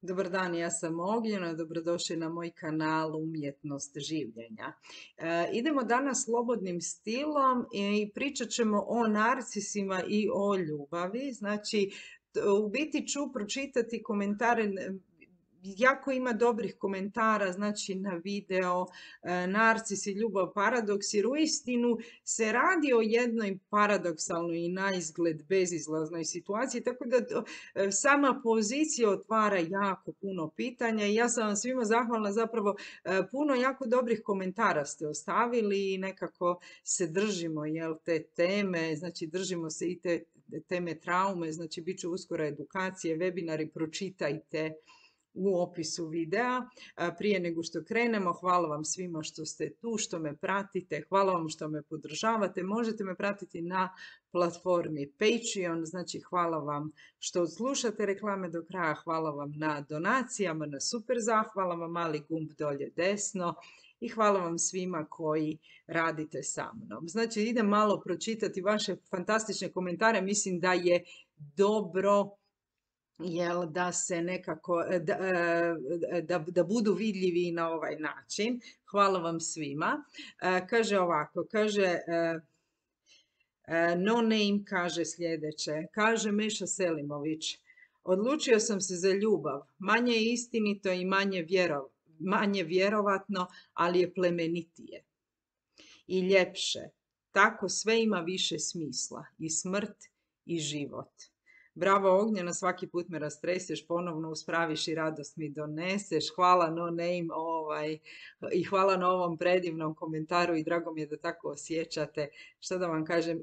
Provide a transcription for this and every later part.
Dobar dan, ja sam Ognjena, dobrodošli na moj kanal Umjetnost življenja. Idemo danas slobodnim stilom i pričat ćemo o narcisima i o ljubavi. Znači, u biti ću pročitati komentare, jako ima dobrih komentara, znači na video, narcis i ljubav paradoks, jer uistinu se radi o jednoj paradoksalnoj i naizgled bezizlaznoj situaciji, tako da sama pozicija otvara jako puno pitanja i ja sam vam svima zahvalna, zapravo puno jako dobrih komentara ste ostavili i nekako se držimo te teme, znači držimo se i te teme traume, znači bit će uskoro edukacije, webinari, pročitajte u opisu videa. Prije nego što krenemo, hvala vam svima što ste tu, što me pratite, hvala vam što me podržavate. Možete me pratiti na platformi Patreon, znači hvala vam što slušate reklame do kraja, hvala vam na donacijama, na super zahvalama, mali gumb dolje desno i hvala vam svima koji radite sa mnom. Znači idem malo pročitati vaše fantastične komentare, mislim da je dobro da se nekako, da budu vidljivi na ovaj način. Hvala vam svima. Kaže ovako, kaže No Name kaže sljedeće, kaže Meša Selimović, odlučio sam se za ljubav, manje je istinito i manje vjerovatno, ali je plemenitije i ljepše. Tako sve ima više smisla, i smrt i život. Bravo Ognjena, svaki put me rastreseš, ponovno uspraviš i radost mi doneseš. Hvala No Name i hvala na ovom predivnom komentaru i drago mi je da tako osjećate. Što da vam kažem,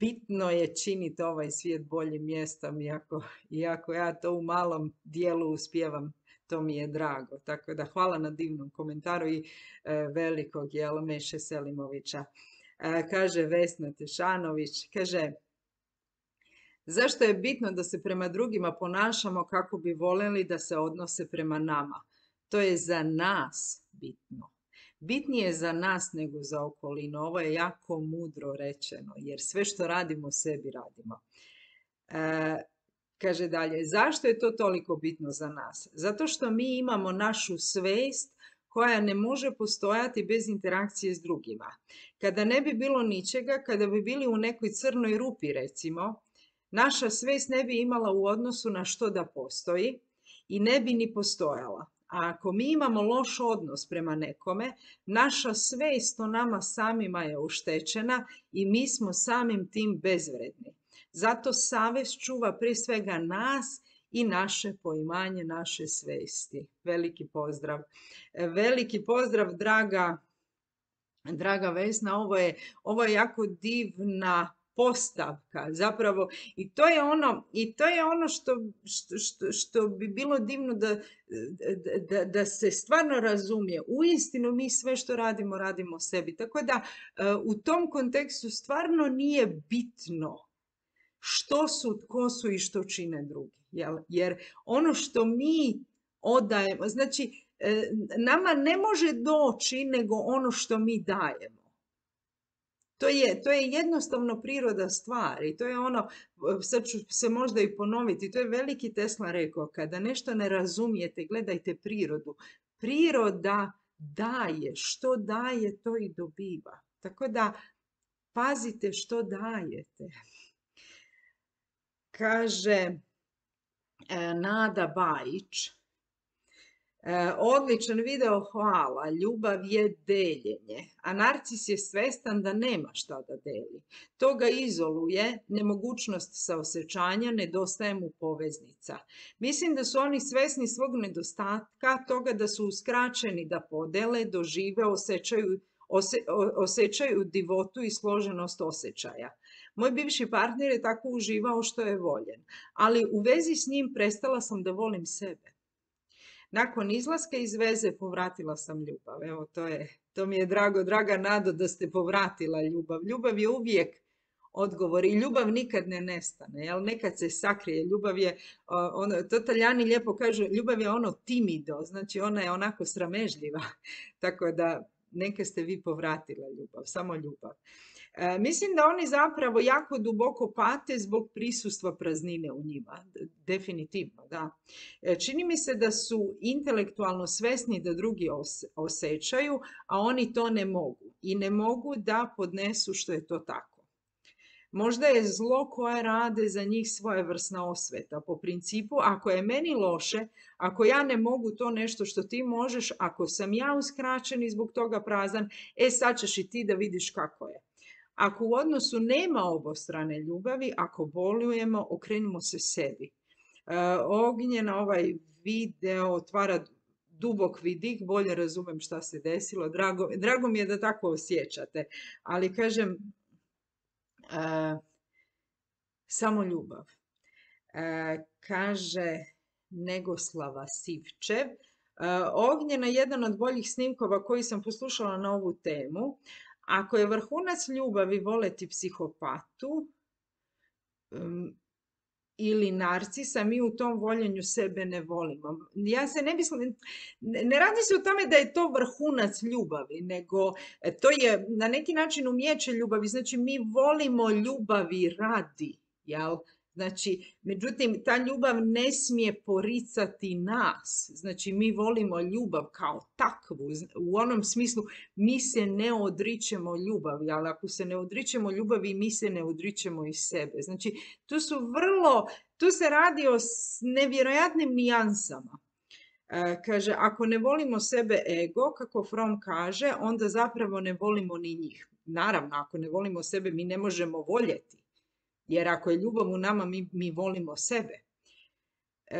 bitno je činiti ovaj svijet boljim mjestom, iako ja to u malom dijelu uspijevam, to mi je drago. Tako da hvala na divnom komentaru i velikog Meše Selimovića. Kaže Vesna Tešanović, kaže, zašto je bitno da se prema drugima ponašamo kako bi voljeli da se odnose prema nama? To je za nas bitno. Bitnije za nas nego za okolinu. Ovo je jako mudro rečeno, jer sve što radimo sebi radimo. Kaže dalje, zašto je to toliko bitno za nas? Zato što mi imamo našu svijest koja ne može postojati bez interakcije s drugima. Kada ne bi bilo ničega, kada bi bili u nekoj crnoj rupi recimo, naša svijest ne bi imala u odnosu na što da postoji i ne bi ni postojala. A ako mi imamo loš odnos prema nekome, naša svijest o nama samima je oštećena i mi smo samim tim bezvredni. Zato savjest čuva prije svega nas i naše poimanje naše svijesti. Veliki pozdrav. Veliki pozdrav, draga Vesna. Ovo je jako divna postavka zapravo i to je ono što bi bilo divno da se stvarno razumije. Uistinu mi sve što radimo sebi. Tako da u tom kontekstu stvarno nije bitno što su, tko su i što čine drugi. Jer ono što mi odajemo, znači nama ne može doći nego ono što mi dajemo. To je jednostavno priroda stvari. To je ono, sad ću se možda i ponoviti, to je veliki Tesla rekao, kada nešto ne razumijete, gledajte prirodu. Priroda daje, što daje to i dobiva. Tako da pazite što dajete. Kaže Nada Bajić, odličan video, hvala, ljubav je deljenje, a narcis je svestan da nema šta da deli. To ga izoluje, nemogućnost saosećanja, nedostaje mu poveznica. Mislim da su oni svesni svog nedostatka, toga da su uskraćeni da podele, dožive, osjećaju divotu i složenost osjećaja. Moj bivši partner je tako uživao što je voljen, ali u vezi s njim prestala sam da volim sebe. Nakon izlaska iz veze povratila sam ljubav. Evo, to mi je drago, draga Nado, da ste povratila ljubav. Ljubav je uvijek odgovor i ljubav nikad ne nestane. Jel? Nekad se sakrije. Ljubav je, to Talijani lijepo kažu, ljubav je ono timido, znači ona je onako sramežljiva. Tako da neka ste vi povratila ljubav, samo ljubav. Mislim da oni zapravo jako duboko pate zbog prisustva praznine u njima. Definitivno, da. Čini mi se da su intelektualno svesni da drugi osjećaju, a oni to ne mogu. I ne mogu da podnesu što je to tako. Možda je zlo koje rade za njih svojevrsna osveta. Po principu, ako je meni loše, ako ja ne mogu to nešto što ti možeš, ako sam ja uskraćen i zbog toga prazan, sad ćeš i ti da vidiš kako je. Ako u odnosu nema obostrane ljubavi, ako bolujemo, okrenimo se sebi. Ognjena ovaj video otvara dubok vidik, bolje razumem šta se desilo. Drago mi je da tako osjećate. Ali kažem, samo ljubav. Kaže Negoslava Sivčev. Ognjena je jedan od boljih snimkova koji sam poslušala na ovu temu. Ako je vrhunac ljubavi voleti psihopatu ili narcisa, mi u tom voljenju sebe ne volimo. Ja se ne mislim, ne radi se o tome da je to vrhunac ljubavi, nego to je na neki način umijeće ljubavi. Znači, mi volimo ljubavi radi, jel? Znači, međutim, ta ljubav ne smije poricati nas. Znači, mi volimo ljubav kao takvu. U onom smislu, mi se ne odričemo ljubavi, ali ako se ne odričemo ljubavi, mi se ne odričemo i sebe. Znači, tu se radi o nevjerojatnim nijansama. Kaže, ako ne volimo sebe ego, kako Fromm kaže, onda zapravo ne volimo ni njih. Naravno, ako ne volimo sebe, mi ne možemo voljeti. Jer ako je ljubav u nama, mi volimo sebe.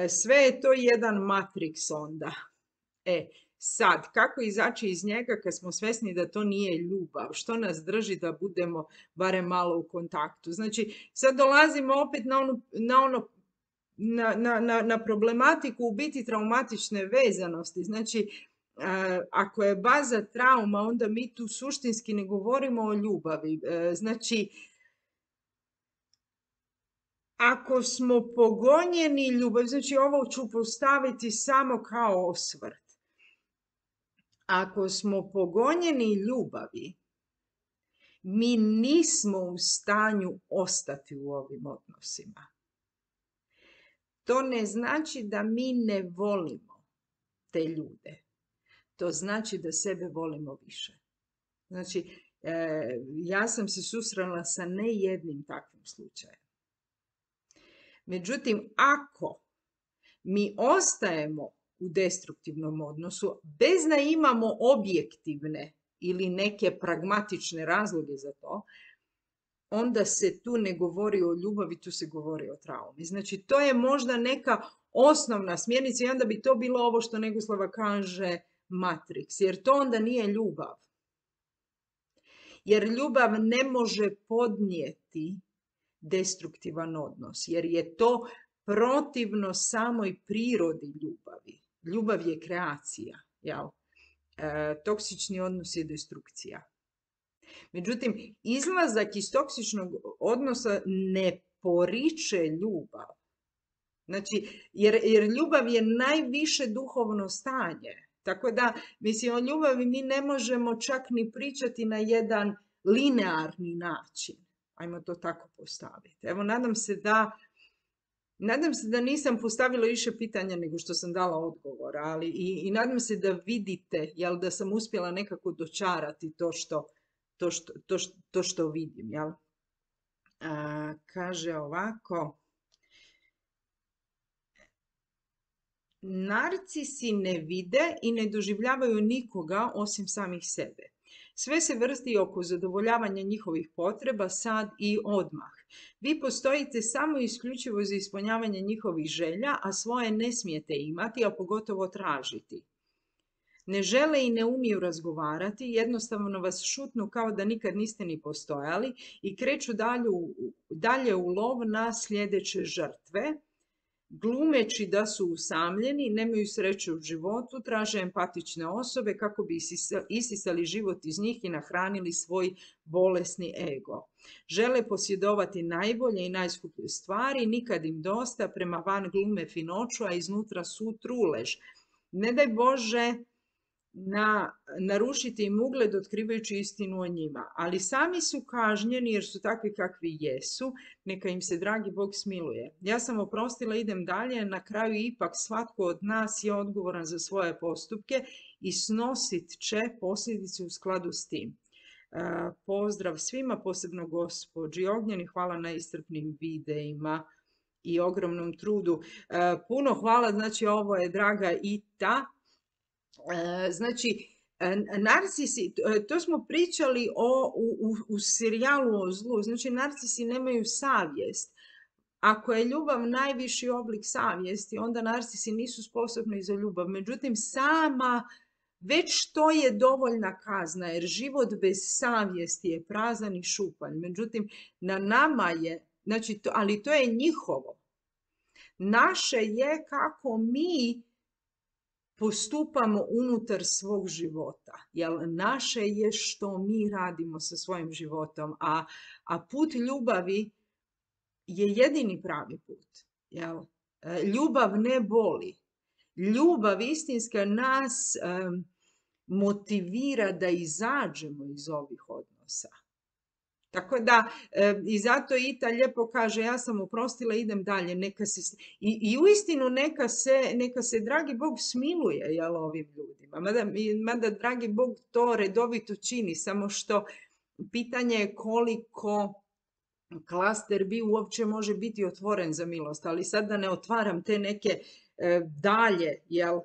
Sve je to jedan matriks onda. Sad, kako izaći iz njega kad smo svjesni da to nije ljubav? Što nas drži da budemo barem malo u kontaktu? Znači, sad dolazimo opet na problematiku u biti traumatične vezanosti. Znači, ako je baza trauma, onda mi tu suštinski ne govorimo o ljubavi. Znači, ako smo pogonjeni ljubav, znači ovo ću postaviti samo kao osvrt. Ako smo pogonjeni ljubavi, mi nismo u stanju ostati u ovim odnosima. To ne znači da mi ne volimo te ljude. To znači da sebe volimo više. Znači, ja sam se susrela sa ne jednim takvim slučajem. Međutim, ako mi ostajemo u destruktivnom odnosu, bez da imamo objektivne ili neke pragmatične razloge za to, onda se tu ne govori o ljubavi, tu se govori o traumi. Znači, to je možda neka osnovna smjernica i onda bi to bilo ovo što Negoslava kaže matriks, jer to onda nije ljubav. Jer ljubav ne može podnijeti destruktivan odnos, jer je to protivno samoj prirodi ljubavi. Ljubav je kreacija, jel? Toksični odnos je destrukcija. Međutim, izlazak iz toksičnog odnosa ne poriče ljubav. Znači, jer ljubav je najviše duhovno stanje. Tako da, mislim, o ljubavi mi ne možemo čak ni pričati na jedan linearni način. Ajmo to tako postaviti. Evo, nadam se da nisam postavila više pitanja nego što sam dala odgovora, ali i nadam se da vidite, jel, da sam uspjela nekako dočarati to što vidim, jel? Kaže ovako, narcisi ne vide i ne doživljavaju nikoga osim samih sebe. Sve se vrsti oko zadovoljavanja njihovih potreba sad i odmah. Vi postojite samo isključivo za ispunjavanje njihovih želja, a svoje ne smijete imati, a pogotovo tražiti. Ne žele i ne umiju razgovarati, jednostavno vas šutnu kao da nikad niste ni postojali i kreću dalje u lov na sljedeće žrtve. Glumeći da su usamljeni, nemaju sreće u životu, traže empatične osobe kako bi isisali život iz njih i nahranili svoj bolesni ego. Žele posjedovati najbolje i najskuplje stvari, nikad im dosta, prema van glume finoću, a iznutra su trulež. Ne daj Bože narušiti im ugled otkrivajući istinu o njima. Ali sami su kažnjeni jer su takvi kakvi jesu, neka im se dragi Bog smiluje. Ja sam oprostila, idem dalje, na kraju ipak svatko od nas je odgovoran za svoje postupke i snosit će posljedice u skladu s tim. Pozdrav svima, posebno gospođi Ognjeni, hvala na iscrpnim videima i ogromnom trudu. Puno hvala, znači ovo je draga Ita. Znači, narcisi, to smo pričali u serijalu o zlu, znači narcisi nemaju savjest. Ako je ljubav najviši oblik savjesti, onda narcisi nisu sposobni za ljubav. Međutim, već to je dovoljna kazna, jer život bez savjesti je prazan i šupalj. Međutim, na nama je, znači, ali to je njihovo. Naše je kako mi postupamo unutar svog života. Jer naše je što mi radimo sa svojim životom, a put ljubavi je jedini pravi put. Jel? Ljubav ne boli. Ljubav istinska nas motivira da izađemo iz ovih odnosa. Tako da, i zato Ita lijepo kaže, ja sam oprostila, idem dalje. I uistinu neka se dragi Bog smiluje, jel, ovim ljudima. Mada dragi Bog to redovito čini, samo što pitanje je koliko klaster bi uopće može biti otvoren za milost. Ali sad da ne otvaram te neke dalje, jel,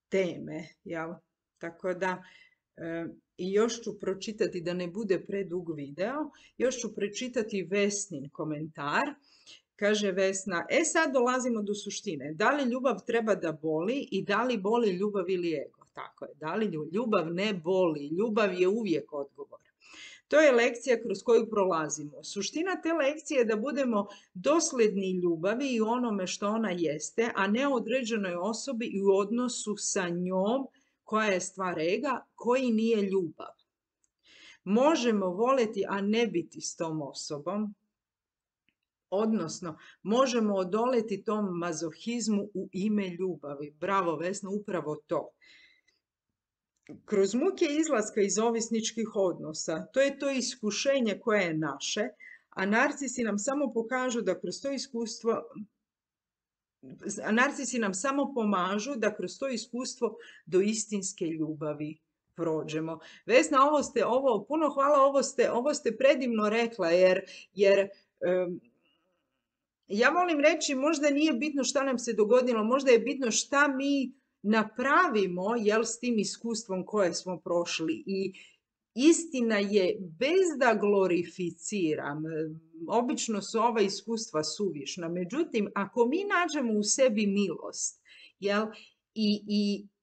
teme, jel. Tako da, i još ću pročitati, da ne bude predug video, još ću pročitati Vesnin komentar. Kaže Vesna, sad dolazimo do suštine. Da li ljubav treba da boli i da li boli ljubav ili ego? Tako je, da li ljubav ne boli, ljubav je uvijek odgovor. To je lekcija kroz koju prolazimo. Suština te lekcije je da budemo dosljedni ljubavi i onome što ona jeste, a ne određenoj osobi i u odnosu sa njom, koja je stvar ega, koji nije ljubav. Možemo voleti, a ne biti s tom osobom, odnosno možemo odoleti tom mazohizmu u ime ljubavi. Bravo Vesna, upravo to. Kroz muke izlaska iz ovisničkih odnosa, to je to iskušenje koje je naše, a narcisi nam samo pokažu da kroz to iskustvo narcisi nam samo pomažu da kroz to iskustvo do istinske ljubavi prođemo. Vesna, puno hvala, ovo ste predivno rekla, jer ja volim reći, možda nije bitno šta nam se dogodilo, možda je bitno šta mi napravimo, jel, s tim iskustvom koje smo prošli. I istina je, bez da glorificiram, obično su ova iskustva suvišna, međutim, ako mi nađemo u sebi milost, jel,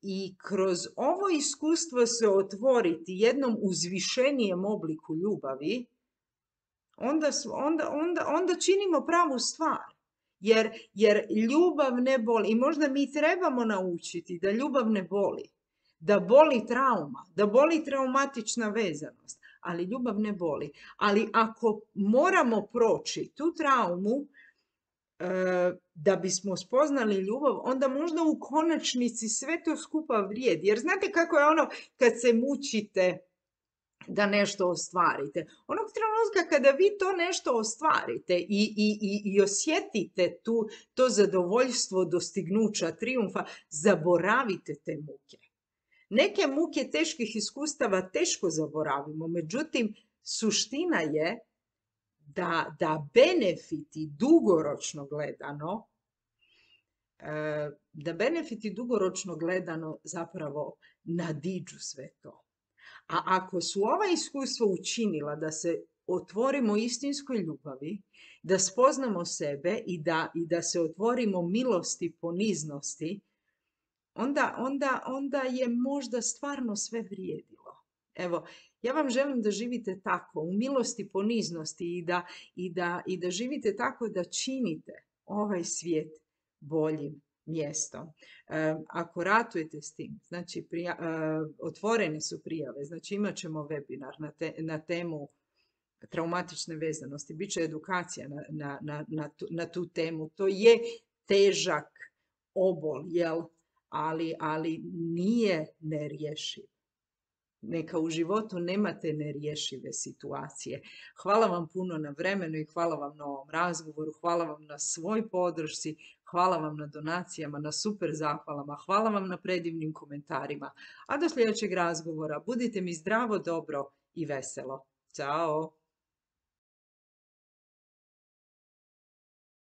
i kroz ovo iskustvo se otvoriti jednom uzvišenijem obliku ljubavi, onda činimo pravu stvar. Jer ljubav ne boli. I možda mi trebamo naučiti da ljubav ne boli. Da boli trauma, da boli traumatična vezanost, ali ljubav ne boli. Ali ako moramo proći tu traumu da bismo spoznali ljubav, onda možda u konačnici sve to skupa vrijedi. Jer znate kako je ono kad se mučite da nešto ostvarite. Onog trenutka kada vi to nešto ostvarite i osjetite to zadovoljstvo dostignuća, trijumfa, zaboravite te muke. Neke muke teških iskustava teško zaboravimo, međutim, suština je da benefiti dugoročno gledano zapravo nadiđu sve to. A ako su ova iskustva učinila da se otvorimo istinskoj ljubavi, da spoznamo sebe i da se otvorimo milosti, poniznosti, onda je možda stvarno sve vrijedilo. Evo, ja vam želim da živite tako, u milosti, poniznosti i da živite tako da činite ovaj svijet boljim mjestom. Ako ratujete s tim, znači otvorene su prijave, znači imat ćemo webinar na temu traumatične vezanosti, bit će edukacija na tu temu. To je težak obol, jel? ali nije nerješiv. Neka u životu nemate nerješive situacije. Hvala vam puno na vremenu i hvala vam na ovom razgovoru, hvala vam na svoj podršci, hvala vam na donacijama, na super zahvalama, hvala vam na predivnim komentarima. A do sljedećeg razgovora budite mi zdravo, dobro i veselo. Ćao!